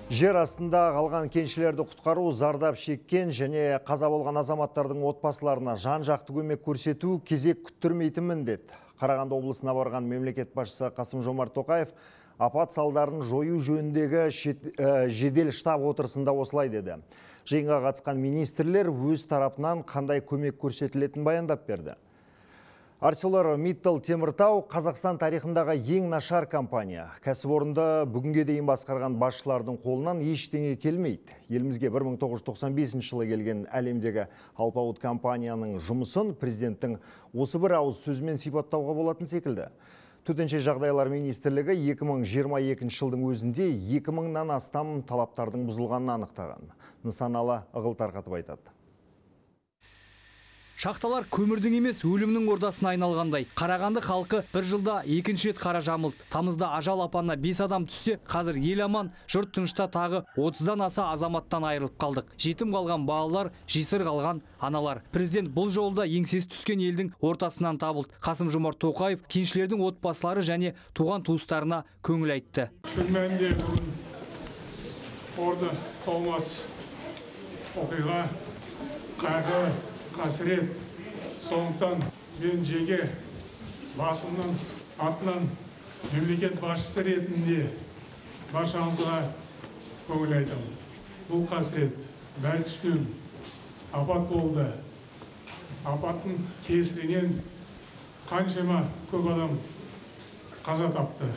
Жер астында қалған кеншілерді құтқару, зардап шеккен және қаза болған азаматтардың отбасыларына жан-жақты көмек көрсету кезек күттірмейтін міндет. Қарағанды облысына барған мемлекет басшысы Қасым-Жомарт Тоқаев апат салдарын жою жөніндегі жедел штаб отырысында осылай деді. Жиынға қатысқан министрлер өз тарапынан қандай көмек көрсетілетінін баяндап берді. ArcelorMittal Теміртау Қазақстан тарихындағы ең нашар компания. Кәсіпорынды бүгінге дейін басқарған басшылардың қолынан ештеңе келмейді. Елімізге 1995 жылы келген әлемдегі алпауыт компанияның жұмысын президенттің осы бір ауыз сөзімен сипаттауға болатын секілді. Төтенше жағдайлар министрлігі 2022 жылдың өзінде 2000-нан астам талаптардың бұзылғанын анықтаған. Нысаналы ығыл тарқатып айтады. Шахталар көмірдің емес өлімнің ордасына айналғандай. Қарағанды халқы бір жылда екінші рет қара жамылды. Тамызда ажал апанына 5 адам түссе, қазір ел аман, жұрт тынышта тағы 30-дан аса азаматтан айырылып қалдық. Жетім қалған балалар, жесір қалған аналар. Президент бұл жолда еңсесі түскен елдің ортасынан табылды. Қасым-Жомарт Тоқаев кеншілердің отбасылары және туған туыстарына көңіл айтты. Шын мәнінде бүгін орны толмас оқиға, қайғы, қасірет. Сондықтан мен жеке басымның атынан мемлекет басшысы ретінде баршаңызға көңіл айтамын. Бұл қасірет бәл түстен апат болды. Апаттың кесірінен қаншама көп адам қаза тапты.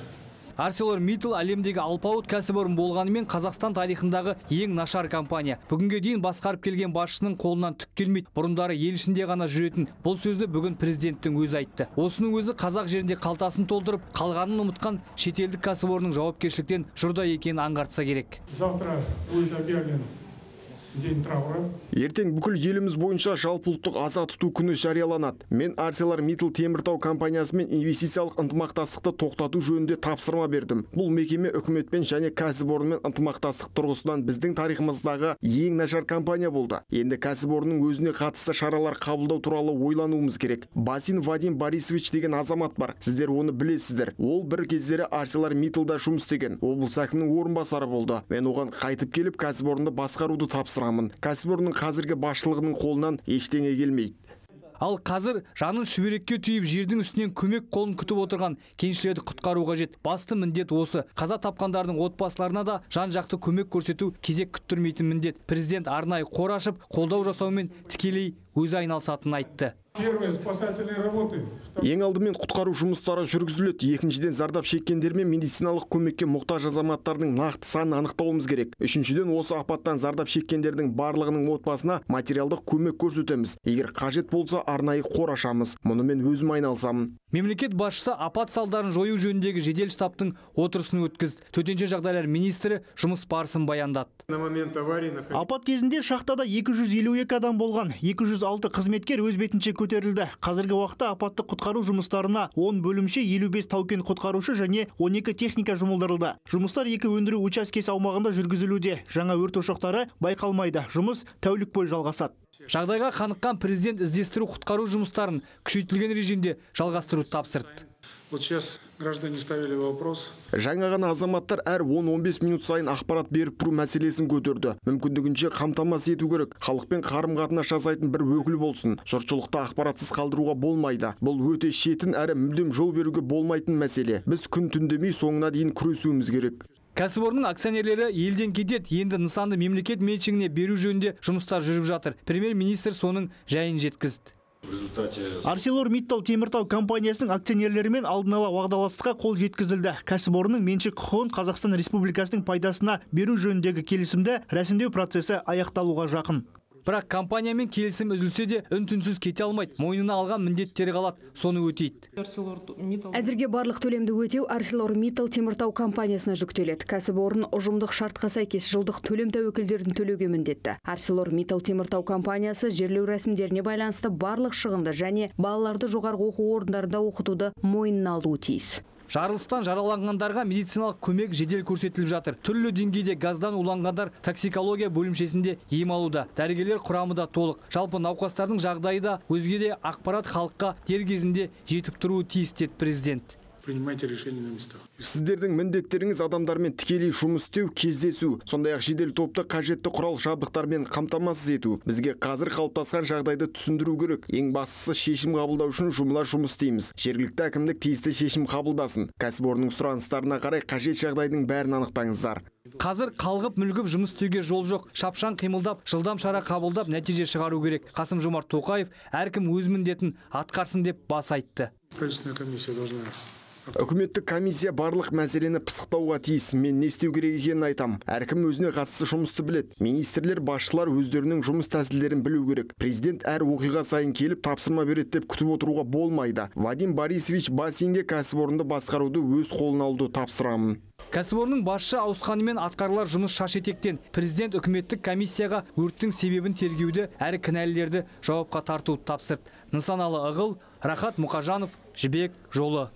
ArcelorMittal әлемдегі алпауыт кәсіпорын болғанымен Қазақстан тарихындағы ең нашар компания. Бүгінге дейін басқарып келген басшының қолынан түк келмейді. Бұрындары ел ішінде ғана жүретін бұл сөзді бүгін президенттің өзі айтты. Осының өзі қазақ жерінде қалтасын толтырып, қалғанын ұмытқан шетелдік кәсіпорынның жауапкершіліктен жұрда екенін аңғартса керек. Завтра будет объявлен день траура. Ертең бүкіл еліміз бойынша жалпыұлттық аза тұту күні жарияланады. Мен ArcelorMittal Теміртау компаниясымен инвестициялық ынтымақтастықты тоқтату жөнінде тапсырма бердім. Бұл мекеме үкіметпен және кәсіпорынмен ынтымақтастық тұрғысынан біздің тарихымыздағы ең нашар компания болды. Енді кәсіпорынның өзіне қатысты шаралар қабылдау туралы ойлануымыз керек. Басин Вадим Борисович деген азамат бар. Сіздер оны білесіздер. Ол бір кездері ArcelorMittalда жұмыс істеген. Облыс әкімінің орынбасары болды. Мен оған қайтып келіп кәсіпорынды басқаруды тапсырамын. Кәсіпорынның қазіргі басшылығының қолынан ештеңе келмейді. Ал қазір жанын шүберекке түйіп жердің үстінен көмек қолын күтіп отырған кеншілерді құтқару қажет. Басты міндет осы. Қаза тапқандардың отбасыларына да жан-жақты көмек көрсету кезек күттірмейтін міндет. Президент арнайы қор ашып, қолдау жасаумен тікелей өзі айналысатынын айтты. Ең алдымен құтқару жұмыстары жүргізіледі. Екіншіден зардап шеккендер мен медициналық көмекке мұқтаж азаматтардың нақты санын анықтауымыз керек. Үшіншіден осы апаттан зардап шеккендердің барлығының отбасына материалдық көмек көрсетеміз. Егер қажет болса, арнайы қор ашамыз. Мұны мен өзім айналысамын. Мемлекет басшысы апат салдарын жою жөніндегі жедел штабтың отырысын өткізді. Төтенше жағдайлар министрі жұмыс барысын баяндады. Апат кезінде шахтада 252 адам болған, 206 қызметкер өз бетінше көтерілді. Қазіргі уақытта апатты құтқару жұмыстарына 10 бөлімше, 55 таукен құтқарушы және 12 техника жұмылдырылды. Жұмыстар 2 өндіру учаскесі аумағында жүргізілуде. Жаңа өрт ошақтары байқалмайды. Жұмыс тәулік бойы жалғасады. Жағдайға қаныққан президент іздестіру құтқару жұмыстарын күшейтілген режимде жалғастыруды тапсырды. Вот сейчас граждане ставили вопрос. Жаңа ғана азаматтар әр 10-15 минут сайын ақпарат беріп тұру мәселесін көтерді. Мүмкіндігінше қамтамасыз ету керек. Халықпен қарым-қатынас жасайтын бір өкіл болсын. Жұртшылықты ақпаратсыз қалдыруға болмайды. Бұл өте шетін әрі мүлдем жол беруге болмайтын мәселе. Біз күн түндемей соңына дейін күресуіміз керек. Кәсіпорынның акционерлері елден кетеді. Енді нысанды мемлекет меншігіне беру жөнінде жұмыстар жүріп жатыр. Премьер-министр соның жайын жеткізді. ArcelorMittal Теміртау компаниясының акционерлерімен алдын ала уағдаластыққа қол жеткізілді. Кәсіпорынның меншік құқығын Қазақстан Республикасының пайдасына беру жөніндегі келісімді рәсімдеу процесі аяқталуға жақын. Бірақ компаниямен келісім үзілсе де үн-түнсіз кете алмайды. Мойнына алған міндеттері қалады, соны өтейді. Әзірге барлық төлемді өтеу ArcelorMittal Теміртау компаниясына жүктеледі. Кәсіпорын ұжымдық шартқа сәйкес жылдық төлем тәуекелдерін төлеуге міндетті. ArcelorMittal Теміртау компаниясы жерлеу рәсімдеріне байланысты барлық шығынды және балаларды жоғарғы оқу орындарында оқытуды мойнына алуы тиіс. Жарылыстан жараланғандарға медициналық көмек жедел көрсетіліп жатыр. Түрлі деңгейде газдан уланғандар токсикология бөлімшесінде ем алуда. Дәрігерлер құрамы да толық. Жалпы науқастардың жағдайы да өзге де ақпарат халыққа дер кезінде жетіп тұруы тиіс деді президент. Принимайте решения на местах. Сіздердің міндеттеріңіз адамдармен тікелей жұмыс істеу, кездесу, сондай-ақ жедел топты қажетті құрал жабдықтармен қамтамасыз ету. Бізге қазір қалыптасқан жағдайды түсіндіру керек. Ең бастысы шешім қабылдау үшін жұмыла жұмыс істейміз. Жергілікті әкімдік тиісті шешім қабылдасын. Кәсіпорынның сұраныстарына қарай қажет жағдайдың бәрін анықтаңыздар. Қазір қалғып мүлгіп жұмыс істеуге жол жоқ. Шапшаң қимылдап, жылдам шара қабылдап, нәтиже шығару керек. Қасым-Жомарт Тоқаев әркім өз міндетін атқарсын деп бас айтты. Правительственная комиссия должна. Үкіметтік комиссия барлық мәселені пысықтауға тиіс. Мен не істеу керек екенін айтам. Әркім өзіне қатысты жұмысты білет. Министрлер, басшылар өздерінің жұмыс тәсілдерін білу керек. Президент әр оқиға сайын келіп тапсырма береді деп күтіп отыруға болмайды. Вадим Борисович Басинге кәсіпорынды басқаруды өз қолына алуды тапсырамын. Кәсіпорынның басшы ауысқанымен атқарылар жұмыс шаш-етектен. Президент үкіметтік комиссияға өрттің себебін тергеуді, әрі кінәлілерді жауапқа тартуды тапсырды. Нысаналы Ығыл, Рахат Мұқажанов, Жібек жолы.